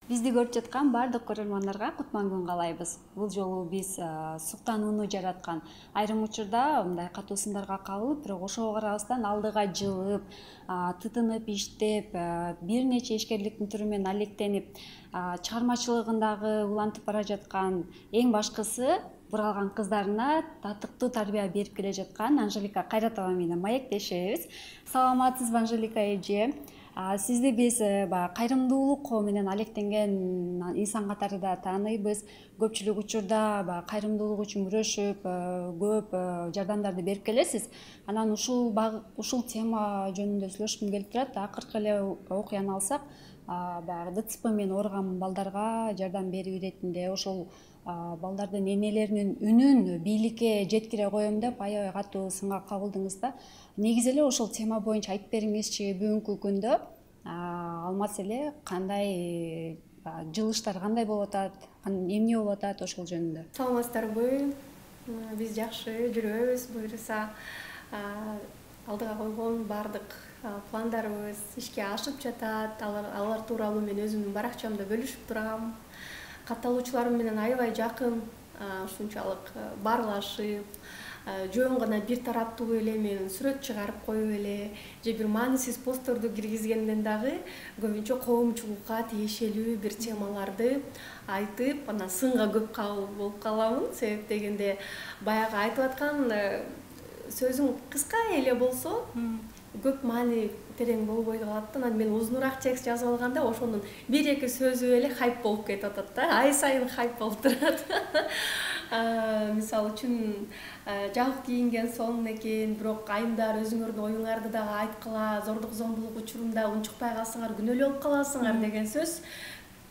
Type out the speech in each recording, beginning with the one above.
Бизди көрүп жаткан бардык көрөрмандарга кутман күн каалайбыз. Бул жолу биз суктанууну жараткан, айрым учурда мындай катуу сындарга кабылып, бирок ошого карабастан алдыга жылып, тытынып иштеп, бир нече ишкерликтин түрү менен алектенип, чыгармачылыгындагы улантып бара жаткан, эң башкысы буралган кыздарына татыктуу тарбия берип келе жаткан Анжелика Кайратова менен маектешебиз. Саламатсызбы, Анжелика эже? Сизди биз баягы кайрымдуулук менен алектенген инсан катарында тааныйбыз. Көпчүлүк учурда баягы кайрымдуулук үчүн күрөшүп, көп жардамдарды берип келесиз. Анан ушул тема жөнүндө сүйлөшкүм келип турат. Акыркы эле окуяны алсак, баягы ДЦП менен ооруган балдарга жардам берүү иретинде ошол балдардын энелеринин үнүн бийликке жеткире коем деп аябай катуу сынга кабылдыңыз да. Негизи эле ошол тема боюнча айтып бериңизчи, бүгүнкү күндө ал маселе кандай, жылыштар кандай болуп атат, эмне болуп атат ошол жөнүндө? Саламатсыздарбы? Биз жакшы жүрөбүз, буюрса алдыга койгон баардык пландарыбыз ишке ашып жатат. Алар тууралуу мен өзүмдүн баракчамда бөлүшүп турам. Катталуучуларым менен аябай жакын, ушунчалык баарлашып, жөн гана бир тараптуу эле мен сүрөт чыгарып коюп эле же бир маанисиз постторду киргизгенден дагы көбүнчө коомчулукка тиешелүү бир темаларды айтып, анан сынга көп кабыл болуп каламын. Себеп дегенде баягы айтып аткан сөзүң кыска эле болсо көп маани терең болбой калат да. Анан мен узунураак текст жазып алганда ошонун бир эки сөзү эле хайп болуп кетип атат да. Ай сайын хайп болуп турат. Мисалы үчүн жабык кийинген сонун экен, бирок айымдар өзүңөрдүн оюңарды дагы айткыла, зордук зомбулук учурунда унчукпай калсаңар күнөөлүү болуп каласыңар деген сөз.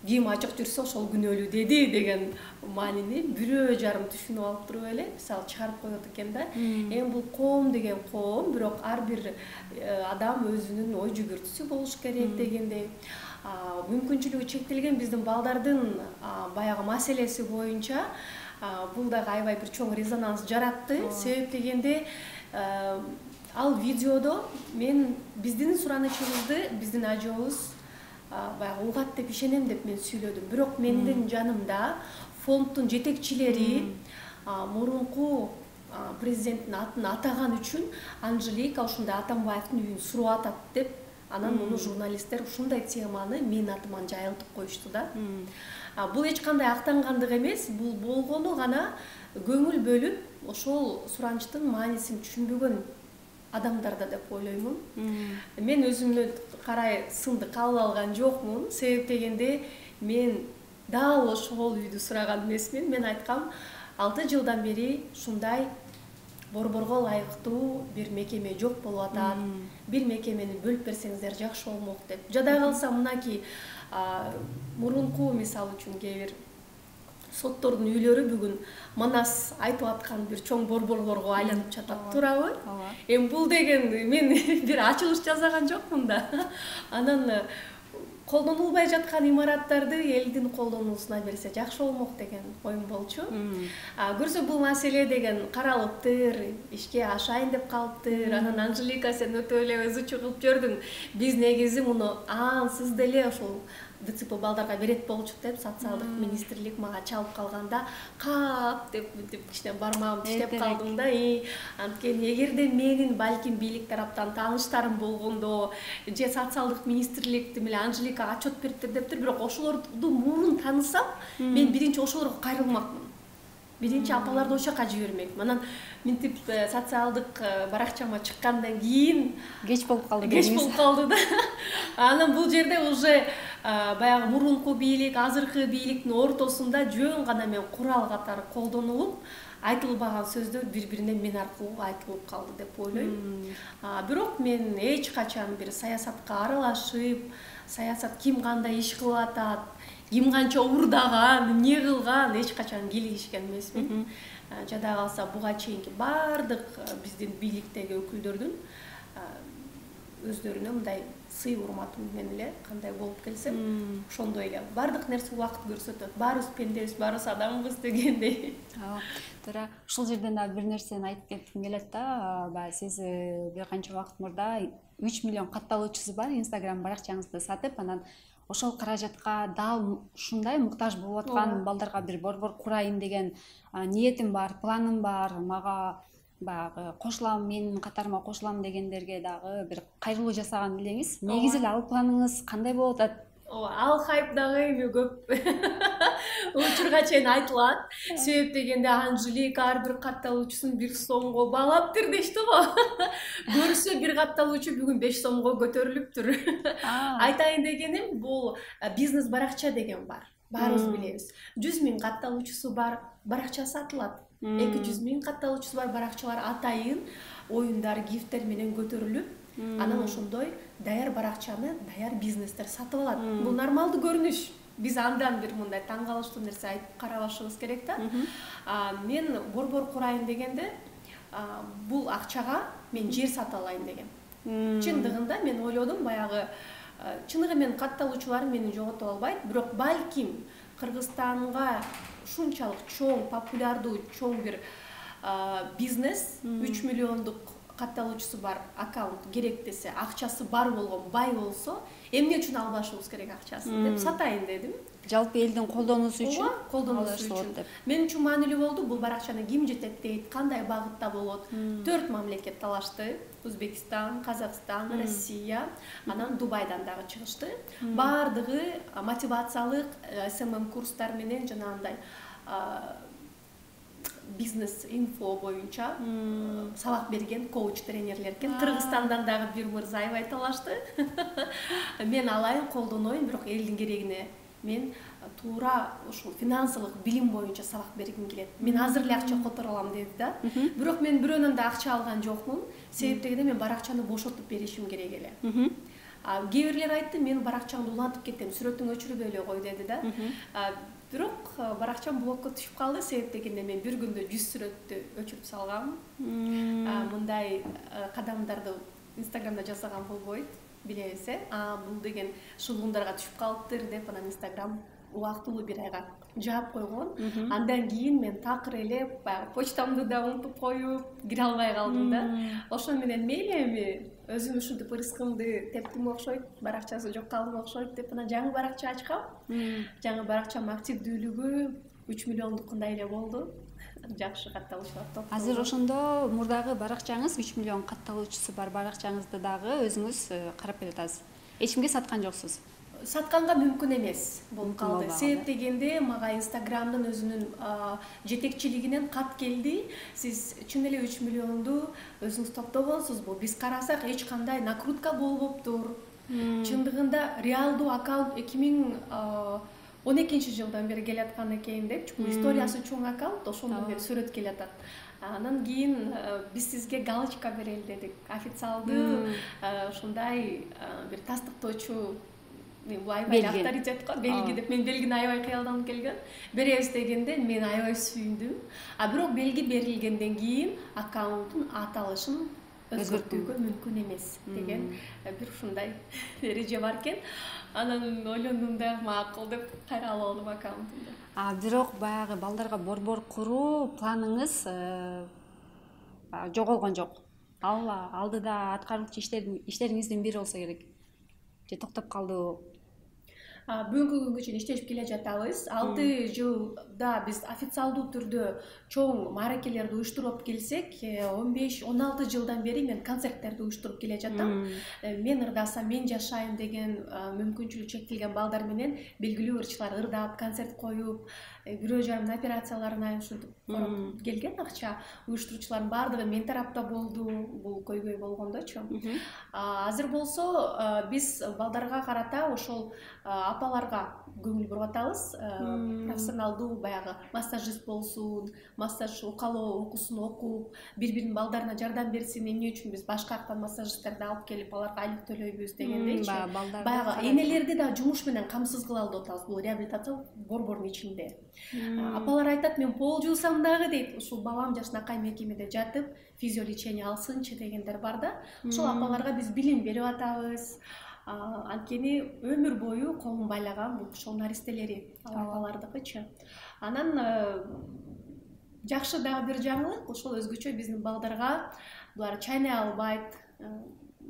Ким ачык жүрсө ошол күнөөлүү деди деген маанини бирөө жарым түшүнүп алып туруп эле мисалы чыгарып коет экен да. Эми бул коом деген коом, бирок ар бир адам өзүнүн ой жүгүртүсү болуш керек дегендей. Мүмкүнчүлүгү чектелген биздин балдардын баягы маселеси боюнча бул дагы аябай бир чоң резонанс жаратты. Себеп дегенде ал видеодо мен биздин суранычыбызды биздин ажообуз баягы угат деп ишенем деп мен сүйлөдүм. Бирок мендин жанымда фонддун жетекчилери мурунку президенттин атын атаган үчүн Анжелика ушундай Атамбаевдин үйүн сурап атат деп, анан муну журналисттер ушундай теманы менин атыман жайылтып коюшту да. Бул эч кандай актангандык эмес, бул болгону гана көңүл бөлүп ошол суранычтын маанисин түшүнбөгөн адамдарда деп ойлоймун. Мен өзүмө карай сынды кабыл алган жокмун. Себеп дегенде мен дал ошол үйдү сураган эмесмин. Мен айткам, 6 жылдан бери ушундай борборго ылайыктуу бир мекеме жок болуп атат. Бир мекемени бөлүп берсеңиздер жакшы болмок деп. Жада калса мынакей мурунку мисалы үчүн кээ бир соттордун үйлөрү бүгүн Манас айтып аткан бир чоң борборлорго айланып жатат, туурабы? Эми бул деген мен бир ачылыш жасаган жокмун да. Анан колдонулбай жаткан имараттарды элдин колдонуусуна берсе жакшы болмок деген оюм болчу. Көрсө бул маселе деген каралыптыр, ишке ашайын деп калыптыр. Анан Анжелика сен өтө эле ызычуу кылып жибердиң. Биз негизи муну ансыз деле ошол ДЦП балдарга берет болчук деп социалдык министрлик мага чалып калганда кап деп мынтип кичине бармагымды тиштеп калдым да. Анткени эгерде менин балким бийлик тараптан тааныштарым болгондо же социалдык министрликти менен Анжелика отчет бериптир дептир, бирок ошолорду мурун таанысам, мен биринчи ошолорго кайрылмакмын. Биринчи апаларды ошол жака жибермекмин. Анан мынтип социалдык баракчама чыккандан кийин Кеч болуп калды. Кеч болуп калды да. Анан бул жерде уже баягы мурунку бийлик, азыркы бийликтин ортосунда жөн гана мен курал катары колдонулуп, айтылбаган сөздөр бири-бирине мен аркылуу айтылып калды деп ойлойм. Бирок мен эч качан бир саясатка аралашып, саясат ким кандай иш кылып атат, ким канча уурдаган, эмне кылган эч качан кийлигишкен эмесмин. Жада калса буга чейинки баардык биздин бийликтеги өкүлдөрдүн өздөрүнө мындай сый урматы менен эле кандай болуп келсем, ошондой эле баардык нерсе убакыт көрсөтөт. Баарыбыз пендебиз, баарыбыз адамбыз дегендей. Туура. Ушул жерден дагы бир нерсени айтып кетким келет да. Баягы сиз бир канча убакыт мурда 3 миллион катталуучусу бар Instagram баракчаңызды сатып, анан ошол каражатка дал ушундай муктаж болуп аткан балдарга бир борбор курайын деген ниетим бар, планым бар. Мага баягы кошулам, менин катарыма кошулам дегендерге дагы бир кайрылуу жасаган элеңиз. Негизи эле ал планыңыз кандай болуп атат? Ал хайп дагы эми көп учурга чейин айтылат. Себеп дегенде Анжелика ар бир катталуучусун 1 сомго баалаптыр дешти го. Көрсө бир катталуучу бүгүн 5 сомго көтөрүлүптүр. Айтайын дегеним, бул бизнес баракча деген бар. Баарыбыз билебиз. 100 000 катталуучусу бар, баракча сатылат. 200 000 катталуучусу бар баракчалар атайын оюндар, гифттер менен көтөрүлүп, анан ошондой даяр баракчаны даяр бизнестер сатып алат. Бул нормалдуу көрүнүш. Биз андан бир мындай таң калыштуу нерсе айтып карабашыбыз керек да. Мен борбор курайын дегенде, бул акчага мен жер сатып алайын деген. Чындыгында мен ойлодум, баягы чыныгы мен катталуучулар мени жоготуп албайт, бирок балким Кыргызстанга ушунчалык чоң, популярдуу, чоң бир бизнес, 3 миллиондук катталуучусу бар аккаунт керек десе, акчасы бар болгон, бай болсо, эмне үчүн албашыбыз керек акчасын деп сатайын дедим. Жалпы элдин колдонуусу үчүн. Колдонуусу үчүн. Мен үчүн маанилүү болду. Бул баракчаны ким жетектейт, кандай багытта болот? 4 мамлекет талашты. Өзбекстан, Казакстан, Россия, анан Дубайдан дагы чыгышты. Бардыгы мотивациялык СММ курстар менен жанагындай бизнес инфо боюнча сабак берген коуч тренерлер экен. Кыргызстандан дагы бир мырза аябай талашты. Мен алайын, колдоноюн, бирок элдин керегине мен туура ушул финансылык билим боюнча сабак бергим келет. Мен азыр эле акча которо алам деди да. Бирок мен бирөөнөн да акча алган жокмун. Себеп дегенде мен баракчаны бошотуп беришим керек эле. Кээ бирлер айтты, мен баракчаңды улантып кеттим, сүрөтүңө өчүрбөй эле кой деди да. Бирок баракчам блокко түшүп калды. Себеп дегенде мен бир күндө 100 сүрөттү өчүрүп салгам. Мындай кадамдарды Инстаграмда жасаган болбойт, билебиз, бул деген шылгундарга түшүп калыптыр деп, анан Инстаграм убактылуу бир айга жаап койгон. Андан кийин мен такыр эле баягы почтамды да унутуп коюп, кире албай калдым да. Ошон менен мейли эми өзүм ушинтип ырыскымды тептим окшойт, баракчасы жок калдым окшойт деп анан жаңы баракча ачкам. Жаңы баракчамдын активдүүлүгү 3 миллиондукундай эле болду. Жакшы катталуучулар топ. Азыр ошондо мурдагы баракчаңыз 3 миллион катталуучусу бар баракчаңызды дагы өзүңүз карап келатасыз. Эч кимге саткан жоксуз? Сатканга мүмкүн эмес болуп калды. Себеп дегенде мага Инстаграмдын өзүнүн жетекчилигинен кат келди. Сиз чын эле 3 миллионду өзүңүз топтогонсузбу? Биз карасак эч кандай накрутка болбоптур. Чындыгында реалдуу аккаунт 2012 жылдан бери келаткан экен деп, чүнкү историясы чоң аккаунт, ошондон бери сүрөт келатат. Анан кийин биз сизге галочка берели дедик. Официалдуу ушундай бир тастыктоочу аябай авторитет го, белги деп. Мен белгини аябай кыялданып келген. Беребиз дегенде мен аябай сүйүндүм. Бирок белги берилгенден кийин аккаунттун аталышын өзгөртүүгө мүмкүн эмес деген бир ушундай эреже бар экен. Анан ойлондум да, макул деп кайра алып алдым аккаунтумду. Бирок баягы балдарга борбор куруу планыңыз жоголгон жок. Ал алдыда аткаруучу иштериңиздин бири болсо керек. Же токтоп калдыбы? Бүгүнкү күнгө чейин иштешип келе жатабыз. 6 жылда биз официалдуу түрдө чоң мааракелерди уюштуруп келсек, 15-16 жылдан бери мен концерттерди уюштуруп келе жатам. Мен ырдасам, мен жашайын деген мүмкүнчүлүгү чектелген балдар менен белгилүү ырчылар ырдап, концерт коюп, бирөө жарым операцияларына ушинтип коруп келген акча. Уюштуруучулардын баардыгы мен тарапта болду, бул көйгөй болгондочу. Азыр болсо биз балдарга карата ошол апаларга көңүл буруп атабыз. Профессионалдуу баягы массажист болсун, массаж укалоо окуусун окуп, бири-биринин балдарына жардам берсин, эмне үчүн биз башка жактан массажисттерди алып келип аларга айлык төлөйбүз дегендейчи. Баягы энелерди да жумуш менен камсыз кыла алып атабыз бул реабилитация борбордун ичинде. Апалар айтат, мен пол жуусам дагы дейт, ушул балам жашынакай мекемеде жатып, физиолечение алсынчы дегендер бар да. Ошол апаларга биз билим берип атабыз. Анткени өмүр бою колун байлаган бул ошол наристелери, апалардыкычы. Анан жакшы дагы бир жаңылык, ошол өзгөчө биздин балдарга булар чайнай албайт,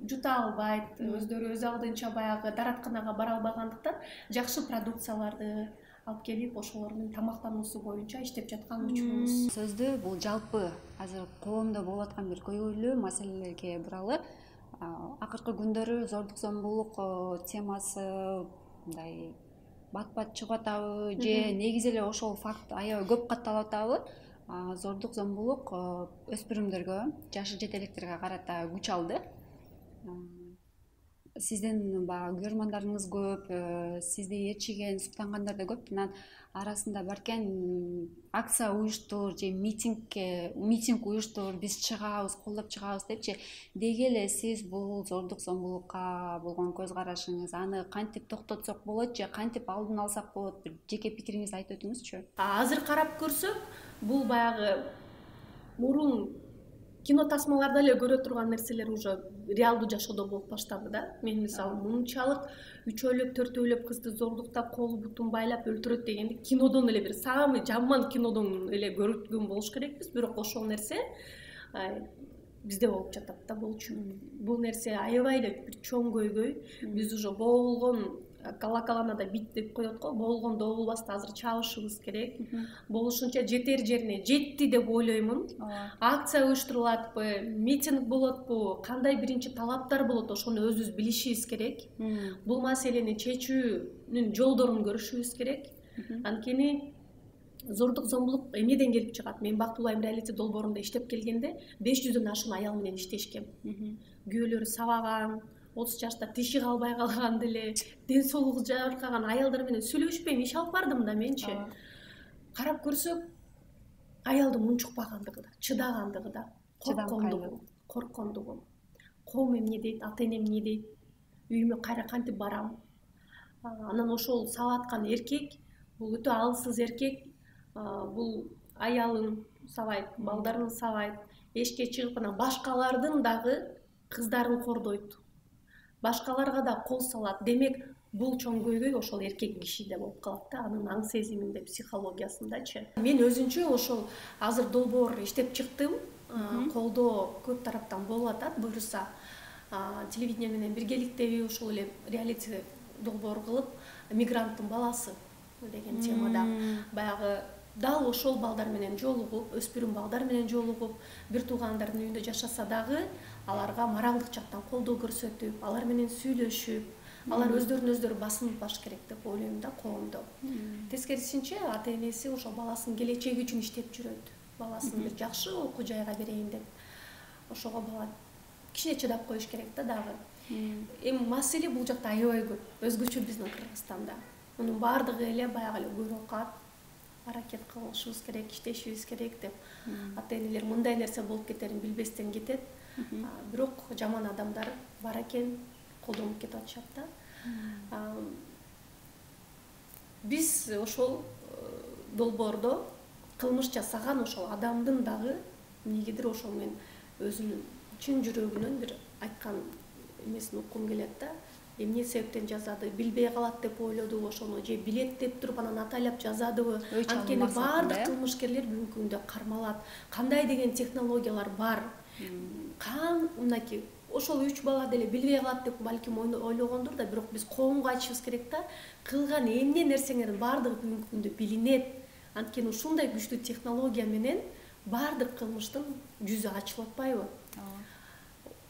жута албайт, өздөрү өз алдынча баягы дааратканага бара албагандыктан жакшы продукцияларды алып келип ошолордун тамактануусу боюнча иштеп жаткан учурубуз. Сөздү бул жалпы азыр коомдо болуп аткан бир көйгөйлүү маселелерге буралы. Акыркы күндөрү зордук зомбулук темасы мындай бат чыгып атабы же негизи эле ошол факт аябай көп катталып атабы? Зордук зомбулук өспүрүмдөргө, жашы жете электерге карата күч алды. Сиздин баягы көрөрмандарыңыз көп, сизди ээрчиген, суктангандар да көп. Анан арасында баркен акция уюштур же митинг уюштур, биз чыгабыз, колдоп чыгабыз депчи. Деги эле сиз бул зордук зомбулукка болгон көз карашыңыз, аны кантип токтотсок болот же кантип алдын алсак болот? Бир жеке пикириңизди айтып өтүңүзчү. Азыр карап көрсөк, бул баягы мурун кино тасмаларда эле көрө турган нерселер уже реалдуу жашоодо болуп баштады да. Мен мисалы мынчалык үчөөлөп, төртөөлөп кызды зордуктап, колу бутун байлап өлтүрөт дегенди кинодон эле бир самый жаман кинодон эле көргөн болуш керекпиз. Бирок ошол нерсе бизде болуп жатат да болчу. Бул нерсе аябай эле бир чоң көйгөй. Биз уже боолгон калакаланада бит деп коет го, боолгон добулбаста азыр чабышыбыз керек. Болушунча жетер жерине жетти деп ойлоймун. Акция уюштурулатпы, митинг болотпу, кандай биринчи талаптар болот, ошону өзүбүз билишибиз керек. Бул маселени чечүүнүн жолдорун көрүшүбүз керек. Анткени зордук зомбулук эмнеден келип чыгат? Мен Бактылуу Айым реалити долбоорунда иштеп келгенде 500дөн ашуун аял менен иштешкем. Күйөөлөрү сабаган, 30 жашта тиши калбай калган деле, ден соолугу жабыркаган аялдар менен сүйлөшпөйм, иш алып бардым да менчи. Карап көрсөк, аялдын унчукпагандыгы да, чыдагандыгы да, корккондугу. Коом эмне дейт, ата энем эмне дейт, үйүмө кайра кантип барам. Анан ошол сабаткан эркек, бул өтө алсыз эркек, бул аялын сабайт, балдарын сабайт, эшикке чыгып анан башкалардын дагы кыздарын кордойт. Башкаларга да кол салат. Демек, бул чоң көйгөй ошол эркек кишиде болуп калат да, анын аң сезиминде, психологиясындачы. Мен өзүнчө ошол азыр долбоор иштеп чыктым. Колдоо көп тараптан болуп атат, буюрса. Телевидение менен биргеликтеби ошол эле реалити долбоор кылып, мигранттын баласы деген темада баягы дал ошол балдар менен жолугуп, өспүрүм балдар менен жолугуп, бир туугандардын үйүндө жашаса дагы аларга моралдык жактан колдоо көрсөтүп, алар менен сүйлөшүп, алар өздөрүн басынтпаш керек деп ойлойм да коомдо. Тескерисинче ата энеси ошол баласынын келечеги үчүн иштеп жүрөт. Баласын бир жакшы окуу жайга берейин деп. Ошого бала кичине чыдап коюш керек да дагы. Эми маселе бул жакта аябай көп. Өзгөчө биздин Кыргызстанда. Мунун баардыгы эле баягы эле көрөкат, аракет кылышыбыз керек, иштешибиз керек деп. Ата энелер мындай нерсе болуп кетерин билбестен кетет. Бирок жаман адамдар бар экен, колдонуп кетип атышат да. Биз ошол долбоордо кылмыш жасаган ошол адамдын дагы эмнегедир ошол мен өзүнүн чын жүрөгүнөн бир айткан эмесин уккум келет да. Эмне себептен жазады, билбей калат деп ойлодубу ошону, же билет деп туруп анан атайлап жазадыбы? Анткени баардык кылмышкерлер бүгүнкү күндө кармалат. Кандай деген технологиялар бар? Мынакей ошол 3 бала деле билбей калат деп балким ойлогондур да, бирок биз коомго айтышыбыз керек да, кылган эмне нерсеңердин баардыгы бүгүнкү күндө билинет. Анткени ушундай күчтүү технология менен баардык кылмыштын жүзү ачылып атпайбы?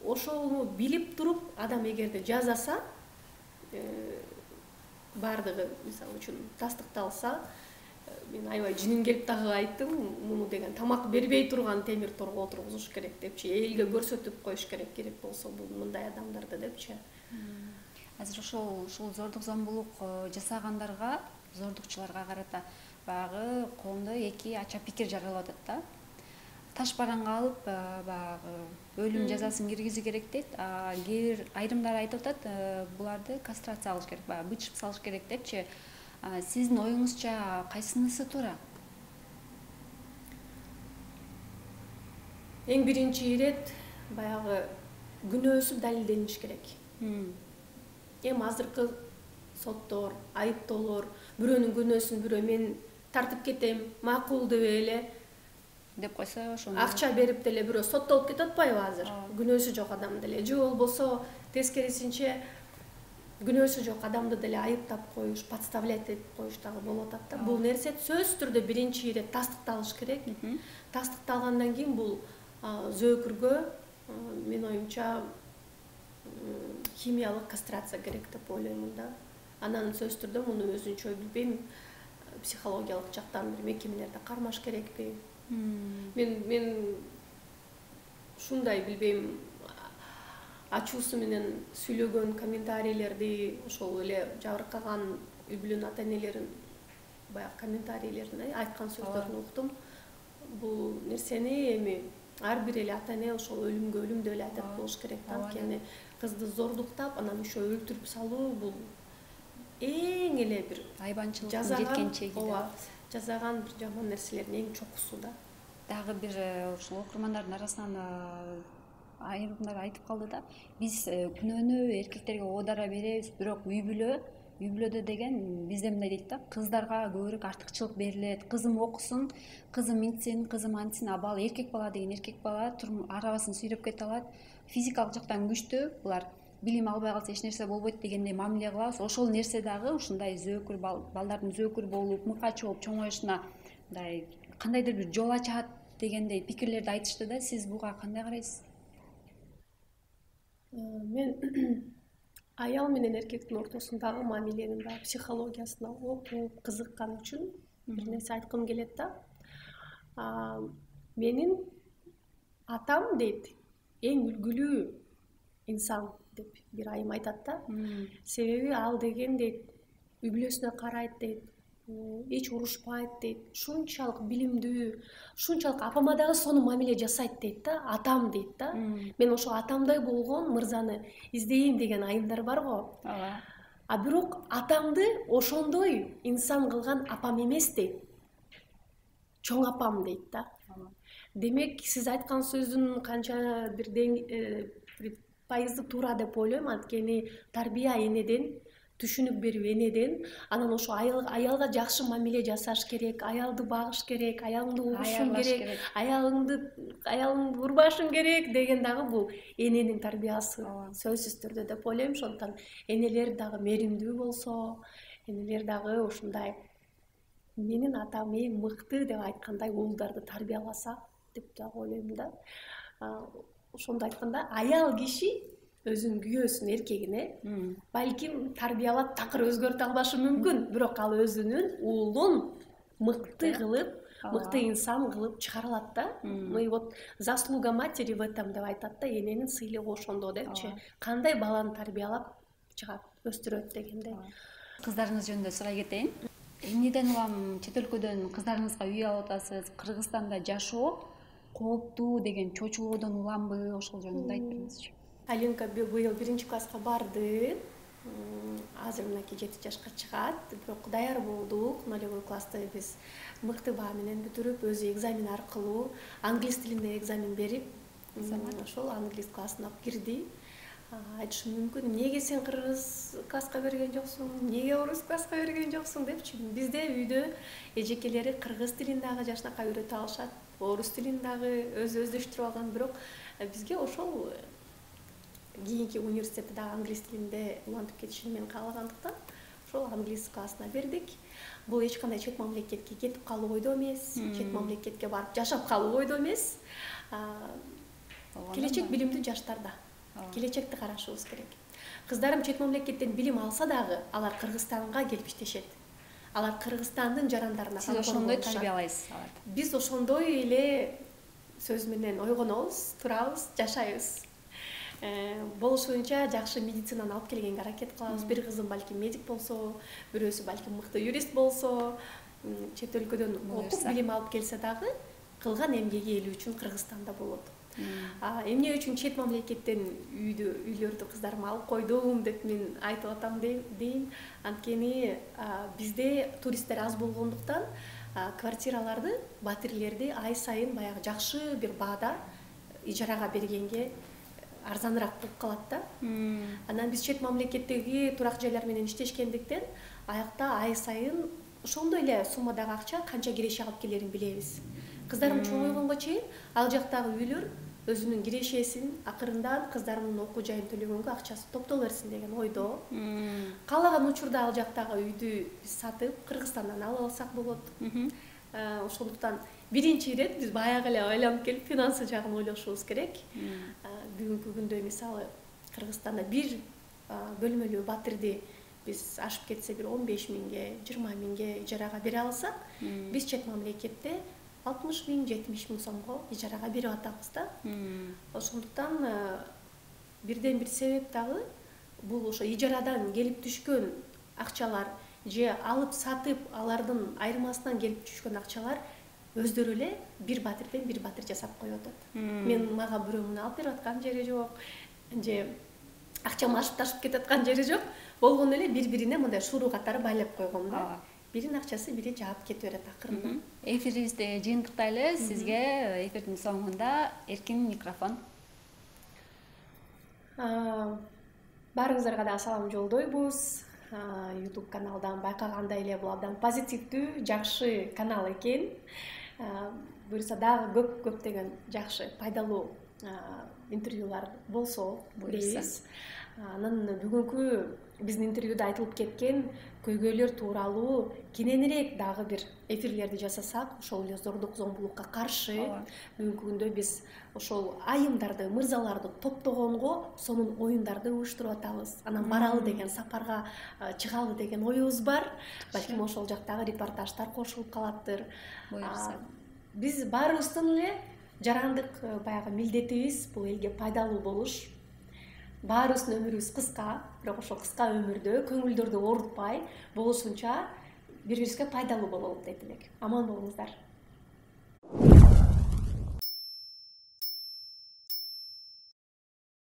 Ошону билип туруп адам эгерде жазаса, баардыгы мисалы үчүн тастыкталса, мен аябай жиним келип дагы айттым, муну деген тамак бербей турган темир торго отургузуш керек депчи, элге көрсөтүп коюш керек болсо бул мындай адамдарды депчи. Азыр ошол зордук зомбулук жасагандарга, зордукчуларга карата баягы коомдо эки ача пикир жаралып атат да. Таш бараңга алып баягы өлүм жазасын киргизүү керек дейт. Айрымдар айтып атат, буларды кастрация кылыш керек, баягы бычып салыш керек депчи. Сиздин оюңузча кайсынысы туура? Эң биринчи ирет баягы күнөөсү далилдениш керек. Эми азыркы соттор, айыптоолор бирөөнүн күнөөсүн бирөө мен тартып кетем, макул деп эле деп койсо ошону акча берип деле бирөө соттолуп кетип атпайбы азыр? Күнөөсү жок адам деле, же болбосо тескерисинче күнөөсү жок адамды деле айыптап коюш, подставлять этип коюш дагы болуп атат да. Бул нерсе сөзсүз түрдө биринчи ирет тастыкталыш керек. Тастыкталгандан кийин бул зөөкүргө менин оюмча химиялык кастрация керек деп ойлоймун да. Анан сөзсүз түрдө муну өзүнчө билбейм, психологиялык жактан бир мекемелерде кармаш керекпи? Мен ушундай билбейм, ачуусу менен сүйлөгөн комментарийлерди, ошол эле жабыркаган үй бүлөнүн ата энелерин баягы комментарийлерин айткан сөздөрүн уктум. Бул нерсени эми ар бир эле ата эне ошол өлүмгө өлүм деп эле айтат болуш керек да. Анткени кызды зордуктап, анан еще өлтүрүп салуу бул эң эле бир айбанчылыктын жеткен чеги. Ооба, жасаган бир жаман нерселердин эң чокусу да. Дагы бир ушул окурмандардын арасынан айрымдар айтып калды да, биз күнөөнү эркектерге оодара беребиз, бирок үй бүлөдө деген бизде мындай дейт да, кыздарга көбүрөөк артыкчылык берилет, кызым окусун, кызым мынтсин, кызым антсин, абал эркек бала деген эркек бала арабасын сүйрөп кете алат, физикалык жактан күчтүү, булар билим албай калса эч нерсе болбойт дегендей мамиле кылабыз. Ошол нерсе дагы ушундай зөөкүр балдардын зөөкүр болуп, мыкач болуп чоңоюшуна мындай кандайдыр бир жол ачат дегендей пикирлерди айтышты да. Сиз буга кандай карайсыз? Мен аял менен эркектин ортосундагы мамиленин баягы психологиясына окуп кызыккан үчүн бир нерсе айткым келет да. Менин атам дейт, эң үлгүлүү инсан деп бир айым айтат да. Себеби ал деген дейт, үй бүлөсүнө карайт дейт, эч урушпайт дейт, ушунчалык билимдүү, ушунчалык апама дагы сону мамиле жасайт дейт да, атам дейт да. Мен ошол атамдай болгон мырзаны издейм деген айымдар барго. А бирок атамды ошондой инсан кылган апам эмес дейт. Чоң апам дейт да. Демек, сиз айткан сөздүн канча бир пайызы туура деп ойлойм, анткени тарбия энеден, түшүнүк берүү энеден, анан ошо аялга жакшы мамиле жасаш керек, аялды багыш керек, аялыңды угушуң керек, аялыңды урбашың керек деген дагы бул эненин тарбиясы сөзсүз түрдө деп ойлойм. Ошондуктан энелер дагы меримдүү болсо, энелер дагы ушундай менин атам эң мыкты деп айткандай уулдарды тарбияласа деп дагы ойлойм да. Ошондо айтканда, аял киши өзүнүн күйөөсүн, эркегине балким тарбиялап такыр өзгөртө албашы мүмкүн, бирок ал өзүнүн уулун мыкты кылып, мыкты инсан кылып чыгара алат да. Мы вот заслуга матери в этом деп айтат да, эненин сыйлыгы ошондо депчи. Кандай баланы тарбиялап чыгат, өстүрөт дегендей. Кыздарыңыз жөнүндө сурай кетейин. Эмнеден улам чет өлкөдөн кыздарыңызга үй алып атасыз? Кыргызстанда жашоо кооптуу деген чочулоодон уламбы? Ошол жөнүндө айтып бериңизчи. Алинка быйыл 1-класска барды. Азыр мынакей 7 жашка чыгат. Бирок даяр болдук. 0-классты биз мыкты баа менен бүтүрүп, өзү экзамен аркылуу англис тилинде экзамен берип, ошол англис классына кирди. Айтышым мүмкүн, эмнеге сен кыргыз класска берген жоксуң, эмнеге орус класска берген жоксуң депчи. Бизде үйдө эжекелери кыргыз тилин дагы жашынакай үйрөтө алышат, орус тилин дагы өздөштүрүп алган, бирок бизге ошол кийинки университетте дагы англис тилинде улантып кетишин мен каалагандыктан ошол англис классына бердик. Бул эч кандай чет мамлекетке кетип калуу ойдо эмес, чет мамлекетке барып жашап калуу ойдо эмес. Келечек билимдүү жаштарда. Келечекти карашыбыз керек. Кыздарым чет мамлекеттен билим алса дагы, алар Кыргызстанга келип иштешет. Алар Кыргызстандын жарандарына сиз ошондой тарбиялайсыз аларды. Биз ошондой эле сөз менен ойгонобуз, турабыз, жашайбыз. Болушунча жакшы медицинаны алып келгенге аракет кылабыз. Бир кызым балким медик болсо, бирөөсү балким мыкты юрист болсо, чет өлкөдөн окуп билим алып келсе дагы кылган эмгеги эл үчүн Кыргызстанда болот. Эмне үчүн чет мамлекеттен үйлөрдү кыздарыма алып койдум деп мен айтып атам дейм. Анткени бизде туристтер аз болгондуктан квартираларды, батирлерди ай сайын баягы жакшы бир баада ижарага бергенге арзаныраак болуп калат да. Анан биз чет мамлекеттеги турак жайлар менен иштешкендиктен аякта ай сайын ошондой эле суммадагы акча канча киреше алып келерин билебиз. Кыздарым чоңойгонго чейин ал жактагы үйлөр өзүнүн кирешесин акырындан кыздарымдын окуу жайын төлөгөнгө акчасы топтоло берсин деген ойдо. Каалаган учурда ал жактагы үйдү биз сатып Кыргызстандан алып алсак болот. Ошондуктан биринчи ирет биз баягы эле ойлонуп келип финансы жагын ойлошубуз керек. Бүгүнкү күндө мисалы Кыргызстанда бир бөлмөлүү батирди биз ашып кетсе бир 15 миңге, 20 миңге ижарага бере алсак, биз чет мамлекетте 60 миң, 70 миң сомго ижарага берип атабыз да. Ошондуктан бирден бир себеп дагы бул ошо ижарадан келип түшкөн акчалар же алып сатып алардын айырмасынан келип түшкөн акчалар өздөрү эле бир батирден бир батир жасап коюп атат. Мага бирөө муну алып берип аткан жери жок, же акчам ашып ташып кетип аткан жери жок. Болгону эле бири-бирине мындай шуруу катары байлап койгон да. Биринин акчасы бири жаап кете берет акырындан. Эфирибизди жыйынтыктайлы. Сизге эфирдин соңунда эркин микрофон. Баарыңыздарга дагы салам жолдойбуз. YouTube каналдан байкагандай эле бул абдан позитивдүү, жакшы канал экен. Буюрса дагы көптөгөн жакшы, пайдалуу интервьюлар болсо дейбиз. Анан бүгүнкү биздин интервьюда айтылып кеткен көйгөйлөр тууралуу кененирээк дагы бир эфирлерди жасасак, ошол эле зордук зомбулукка каршы бүгүнкү күндө биз ошол айымдарды, мырзаларды топтогонго сонун оюндарды уюштуруп атабыз. Анан баралы деген, сапарга чыгалы деген оюбуз бар. Балким ошол жактагы репортаждар кошулуп калаттыр. Биз баарыбыздын эле жарандык баягы милдетибиз бул элге пайдалуу болуш. Баарыбыздын өмүрүбүз кыска, бирок ошол кыска өмүрдө көңүлдөрдү оорутпай болушунча бири-бирибизге пайдалуу бололу дейт элек. Аман болуңуздар.